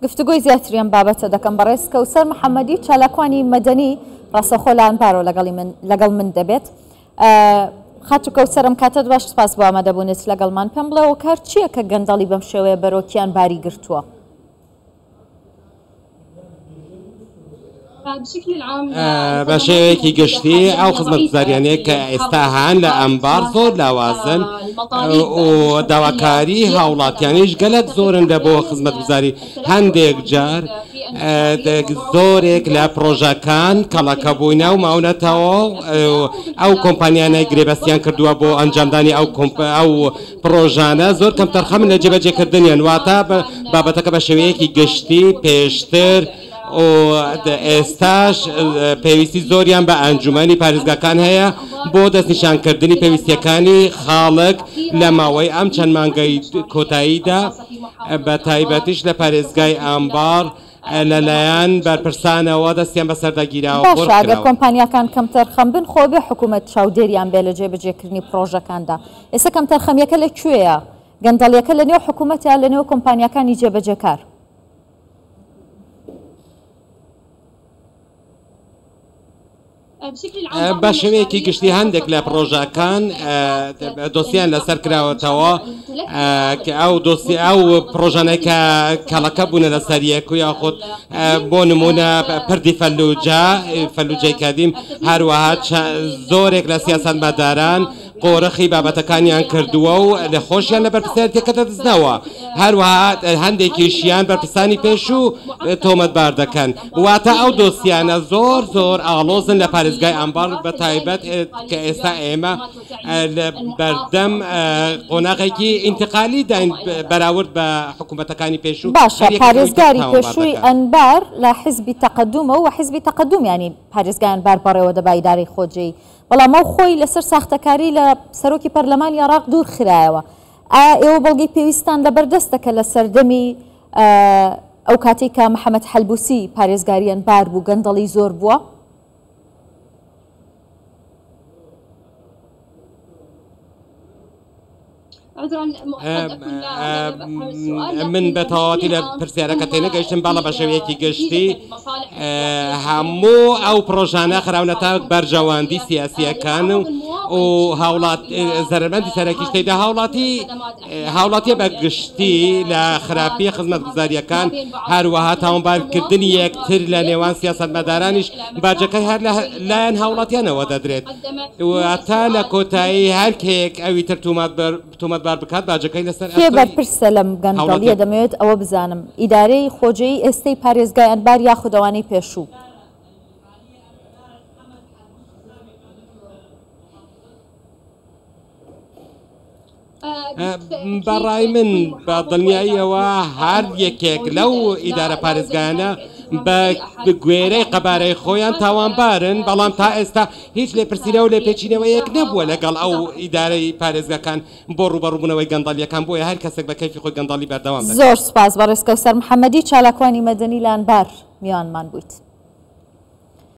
گفتوگۆی زیاتری ئەم بابەتە دەکەم بەڕێز کەوسەر محەممەدی چالاکوانی مەدەنی ڕاستەوخۆ لە ئەنبارەوە لەگەڵی من لەگەڵ من دەبێت. خاتوو کەوسەر ئەم کاتەت باش سپاس بۆ ئامادەبوونت لەگەڵمان پێم بڵێ هۆکار چییە کە گەندەڵی بەم شێوەیە بەرۆکیان باری گرتووە؟ بە شێوەیەکی گشتی ئەو خزمەتگوزاریانەی کە ئێستا هەن لە ئەنبار زۆر لاوازن و داواکاری هاوڵاتیانیش گەلەک زۆرن لە بۆ خزمەتگوزاری هەندێک جار زۆرێک لە پرۆژەکان کەڵەکە بووینە و ماونەتەوە ئەو کۆمپانیانەی گرێبەستیان کردووە بۆ ئەنجامدانی ئەو ئەو پرۆژانە زۆر کەمتەرخەمن لە جێبەجێکردنیان واتە بابەتەکە بە شێوەیەکی گشتی پێشتر و ئێستاش پێویستی زۆریان بە ئەنجومەنی پارێزگاکان هەیە بۆ دەستنیشانکردنی پێویستیەکانی خاڵک لە ماوەی ئەم چەند مانگەی کۆتاییدا بە تایبەتیش لە پارێزگای ئەنبار لەلایەن بەرپرسانەوە دەستیان بەسەردا گیراوە باشە ئەگەر کۆمپانیاکان کەمتەرخەم بن خۆ بێ حکوومەت چاودێریان بێ لە جێبەجێکردنی پرۆژەکاندا ئێستا کەمتەرخەمیەکە لە کوێیە؟ گەندەڵیەکە لە نێو حکوومەتە یا لە نێو کۆمپانیاکانی جێبەجێکار؟ بە شێوەیەکی گشتی هەندێک لە پڕۆژەکان دۆسیان لەسەر کراوەتەوە کە ئەو دۆسی ئەو پڕۆژانەی کە کەڵەکە بوونە لەسەر یەک و یاخود بۆ نمونە پردی فەلوجە فەلوجەی کەدیم هەروەها زۆرێک لە سیاسەتمەداران قۆرخی بابەتەکانیان کردووە و لە خۆشیان لە بەرپرسیارێتیەکە دەدزنەوە، هەروەها هەندێکیشیان بەرپرسانی پێشوو تۆمەتبار دەکەن، واتە ئەو دۆسیانە زۆر زۆر ئاڵۆزن لە پارێزگای ئەنبار بە تایبەت کە ئێستا ئێمە لە بەردەم قۆناغێکی ئینتقالی داین بەراورد بە حکوومەتەکانی پێشوو. باشە پارێزگاری پێشووی ئەنبار لە حیزبی تەقەدومە و حیزبی تەقەدوم یانی پارێزگای ئەنبار بەڕێوە دەبا ئیدارەی خۆجێی بەڵام ئەو خۆی لەسەر ساختەکاری لە سەرۆکی پەرلەمانی عێراق دوور خرایەوە. ئایا ئێوە بەڵگەی پێویستتان لەبەردەستە کە لە سەردەمی ئەو کاتەی کە محەمەد حەلبوسی پارێزگاری ئەنبار بوو گەندەڵی زۆر بووە؟ من بە تەواوەتی لە پرسیارەکە تێنەگەیشتم بەڵە بە شێوەیەکی گشتی هەموو ئەو پرۆژانە خراونەتە بەرژەوەندی سیاسیەکان و و هاوڵات زەرمەندی سەرەکیش تێدا هاوڵاتی هاوڵاتیە بە گشتی لە خراپی خزمەتگوزاریەکان هەروەها تاوانبارکردنی یەکتر لە نێوان سیاسەتمەدارانیش باجەکەی هەر لە لایەن هاوڵاتیانەوە دەدرێت واتە لە کۆتایی هەر کێک ئەوی تر تۆمەتبار بکات باجەکەی لەسەر کێ ئەستۆی بەرپرسە لەم گەندەڵیە هاوڵاتیان. دەمەوێت ئەوە بزانم ئیدارەی خۆجێی ئێستەی پارێزگای ئەنبار یاخود ئەوانەی پێشوو؟ بە ڕای من بە دڵنیاییەوە هەر یەکێک لەو ئیدارە پارێزگایانە بە گوێرەی قەبارەی خۆیان تاوانبارن، بەڵام تا ئێستا هیچ لێپرسینەوە و لێپێچینەوەیەک نەبووە لەگەڵ ئەو ئیدارەی پارێزگاکان بۆ ڕووبەڕووبوونەوەی گەندەڵییەکان، بۆیە هەر کەسێک بە کەیفی خۆی گەندەڵی بەردەوام دەکات. زۆر سوپاس بەڕێز کەوسەر محەمەدی چالاکوانی مەدەنی لە ئەنبار میوانمان بوویت.